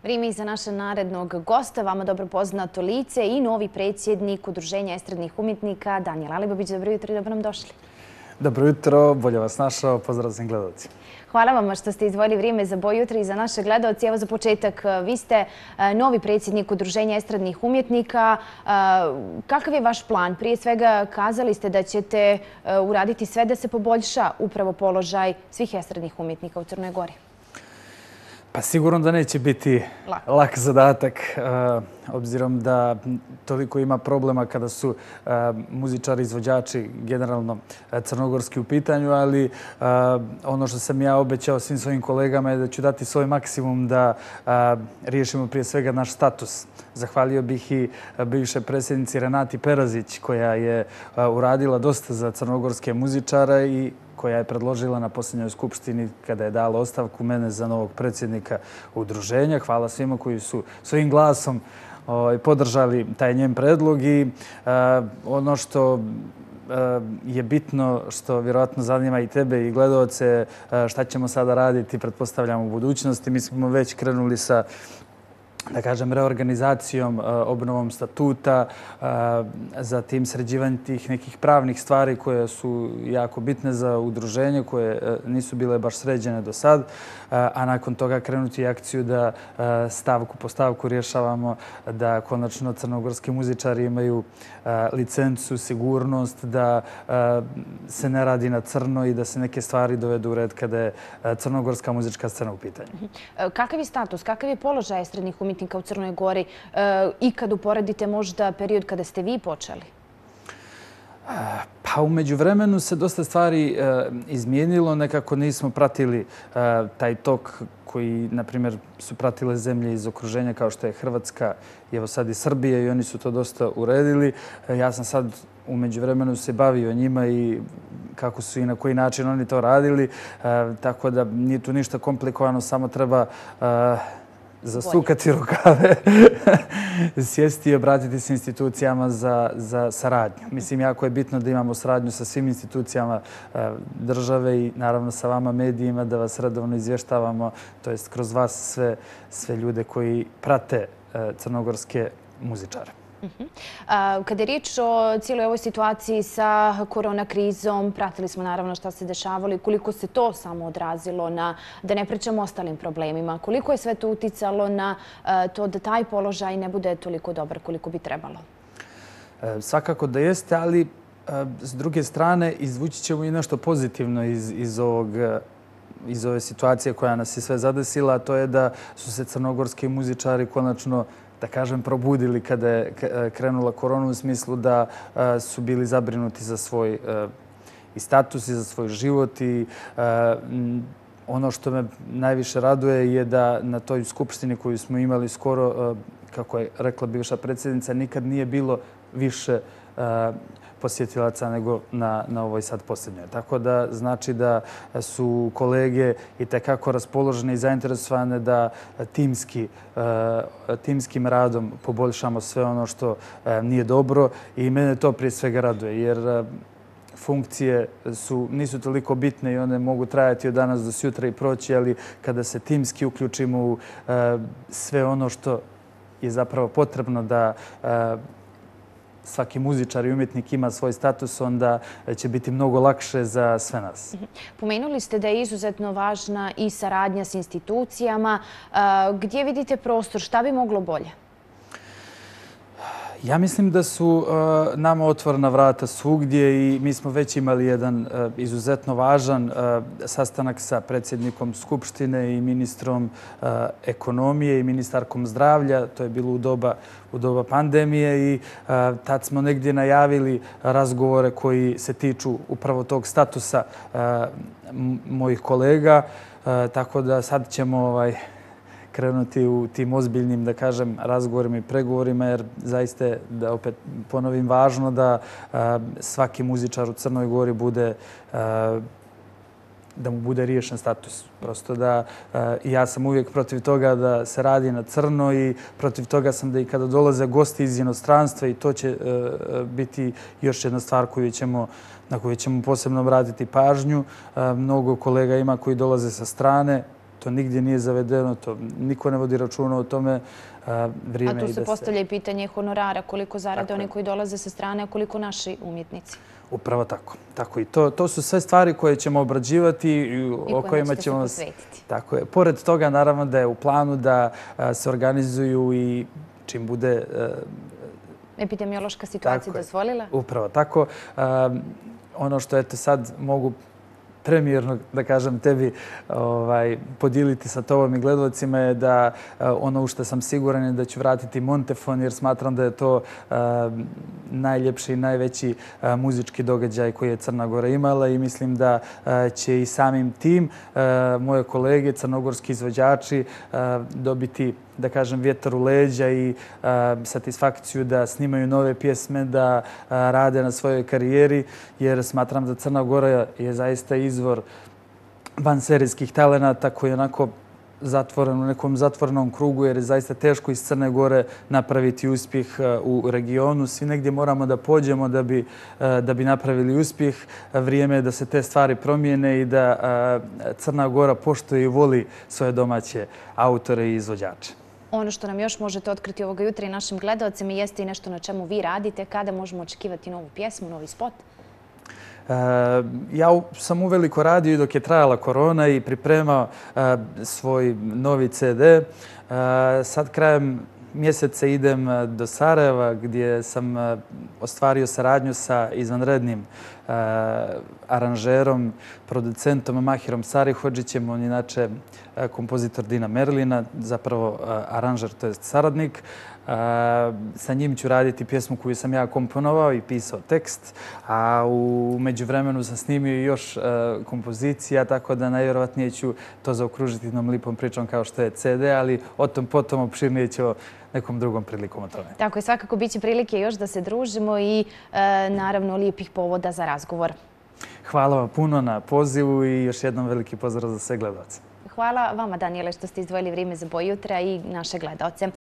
Vrijeme je za naše narednog gosta, vama dobro poznato lice i novi predsjednik Udruženja estradnih umjetnika Danijel Alibabić. Dobro jutro i dobro nam došli. Dobro jutro, bolje vas našao, pozdrav svim gledalcima. Hvala vam što ste izdvojili vrijeme za Boj jutra i za naše gledalce. Evo za početak, vi ste novi predsjednik Udruženja estradnih umjetnika. Kakav je vaš plan? Prije svega kazali ste da ćete uraditi sve da se poboljša upravo položaj svih estradnih umjetnika u Crnoj Gori. Pa sigurno da neće biti lak zadatak, obzirom da toliko ima problema kada su muzičari, izvođači, generalno crnogorski u pitanju, ali ono što sam ja obećao svim svojim kolegama je da ću dati svoj maksimum da riješimo prije svega naš status. Zahvalio bih i bivšoj predsjednici Renati Perazić koja je uradila dosta za crnogorske muzičare i koja je predložila na posljednjoj skupštini kada je dala ostavku mene za novog predsjednika udruženja. Hvala svima koji su svojim glasom podržali taj njen predlog i ono što je bitno, što vjerojatno zanima i tebe i gledaoce, šta ćemo sada raditi, pretpostavljamo u budućnosti. Mi smo već krenuli sa, da kažem, reorganizacijom, obnovom statuta, zatim sređivanje tih nekih pravnih stvari koje su jako bitne za udruženje, koje nisu bile baš sređene do sad, a nakon toga krenuti akciju da stavku po stavku rješavamo da konačno crnogorski muzičari imaju licencu, sigurnost, da se ne radi na crno i da se neke stvari dovedu u red kada je crnogorska muzička scena u pitanju. Kakav je status, kakav je položaj estradnih umjetnika u Crnoj Gori i kad uporedite možda period kada ste vi počeli? Pa u međuvremenu se dosta stvari izmijenilo. Nekako nismo pratili taj tok koji, na primjer, su pratile zemlje iz okruženja kao što je Hrvatska i evo sad i Srbija i oni su to dosta uredili. Ja sam sad u međuvremenu se bavio njima i kako su i na koji način oni to radili. Tako da nije tu ništa komplikovano, samo treba zasukati rukave, sjesti i obratiti se institucijama za saradnju. Mislim, jako je bitno da imamo saradnju sa svim institucijama države i naravno sa vama medijima, da vas redovno izvještavamo, to jest kroz vas sve ljude koji prate crnogorske muzičare. Kada je riječ o cijeloj ovoj situaciji sa korona krizom, pratili smo naravno šta se dešavalo i koliko se to samo odrazilo na, da ne pričamo o ostalim problemima, koliko je sve to uticalo na to da taj položaj ne bude toliko dobar koliko bi trebalo? Svakako da jeste, ali s druge strane izvući ćemo i nešto pozitivno iz ove situacije koja nas je sve zadesila, a to je da su se crnogorski muzičari konačno, da kažem, probudili kada je krenula korona, u smislu da su bili zabrinuti za svoj i status i za svoj život. I ono što me najviše raduje je da na toj skupštini koju smo imali skoro, kako je rekla bivša predsjednica, nikad nije bilo više posjetilaca nego na ovoj sad posljednjoj. Tako da znači da su kolege i tekako raspoložene i zainteresovane da timskim radom poboljšamo sve ono što nije dobro i mene to prije svega raduje jer funkcije nisu toliko bitne i one mogu trajati od danas do sutra i proći, ali kada se timski uključimo u sve ono što je zapravo potrebno da svaki muzičar i umjetnik ima svoj status, onda će biti mnogo lakše za sve nas. Pomenuli ste da je izuzetno važna i saradnja s institucijama. Gdje vidite prostor? Šta bi moglo bolje? Ja mislim da su nama otvorena vrata svugdje i mi smo već imali jedan izuzetno važan sastanak sa predsjednikom Skupštine i ministrom ekonomije i ministarkom zdravlja. To je bilo u doba pandemije i tad smo negdje najavili razgovore koji se tiču upravo tog statusa mojih kolega. Tako da sad ćemo krenuti u tim ozbiljnim, da kažem, razgovorima i pregovorima, jer zaista je, da opet ponovim, važno da svaki muzičar u Crnoj Gori da mu bude riješen status. Prosto da ja sam uvijek protiv toga da se radi na crno i protiv toga sam da i kada dolaze gosti iz inostranstva i to će biti još jedna stvar na koju ćemo posebno obratiti pažnju. Mnogo kolega ima koji dolaze sa strane, To nigdje nije zavedeno, to niko ne vodi računa o tome. A tu se postavlja i pitanje honorara, koliko zarade oni koji dolaze sa strane, a koliko naši umjetnici. Upravo tako. Tako i to su sve stvari koje ćemo obrađivati i o kojima ćemo se posvetiti. Tako je. Pored toga, naravno, da je u planu da se organizuju i čim bude epidemiološka situacija dozvolila? Upravo tako. Ono što eto sad mogu premijerno, da kažem, tebi podijeliti sa tobom i gledalcima je da ono u što sam siguran je da ću vratiti Montefon, jer smatram da je to najljepši i najveći muzički događaj koji je Crna Gora imala i mislim da će i samim tim moje kolege, crnogorski izvođači, dobiti, da kažem, vjetar u leđa i satisfakciju da snimaju nove pjesme, da rade na svojoj karijeri, jer smatram da Crna Gora je zaista izvor vanserijskih talenata koji je onako zatvoren u nekom zatvorenom krugu, jer je zaista teško iz Crne Gore napraviti uspjeh u regionu. Svi negdje moramo da pođemo da bi napravili uspjeh. Vrijeme je da se te stvari promijene i da Crna Gora poštuje i voli svoje domaće autore i izvođače. Ono što nam još možete otkriti ovoga jutra i našim gledalcima jeste i nešto na čemu vi radite. Kada možemo očekivati novu pjesmu, novi spot? Ja sam uveliko radio i dok je trajala korona i pripremao svoj novi CD. Sad krajem mjeseca idem do Sarajeva gdje sam ostvario saradnju sa izvanrednim aranžerom, producentom Mahirom Sarihodžićem. On je inače kompozitor Dina Merlina, zapravo aranžer, to je saradnik. Sa njim ću raditi pjesmu koju sam ja komponovao i pisao tekst, a u međuvremenu sam snimio još kompozicija, tako da najvjerovatnije ću to zaokružiti jednom lipom pričom kao što je CD, ali o tom potom opširnije ću nekom drugom prilikom o tome. Tako je, svakako bit će prilike još da se družimo i naravno lijepih povoda za razgovor. Hvala vam puno na pozivu i još jednom veliki pozdrav za sve gledalce. Hvala vama, Danijele, što ste izdvojili vrijeme za Boj jutra i naše gledalce.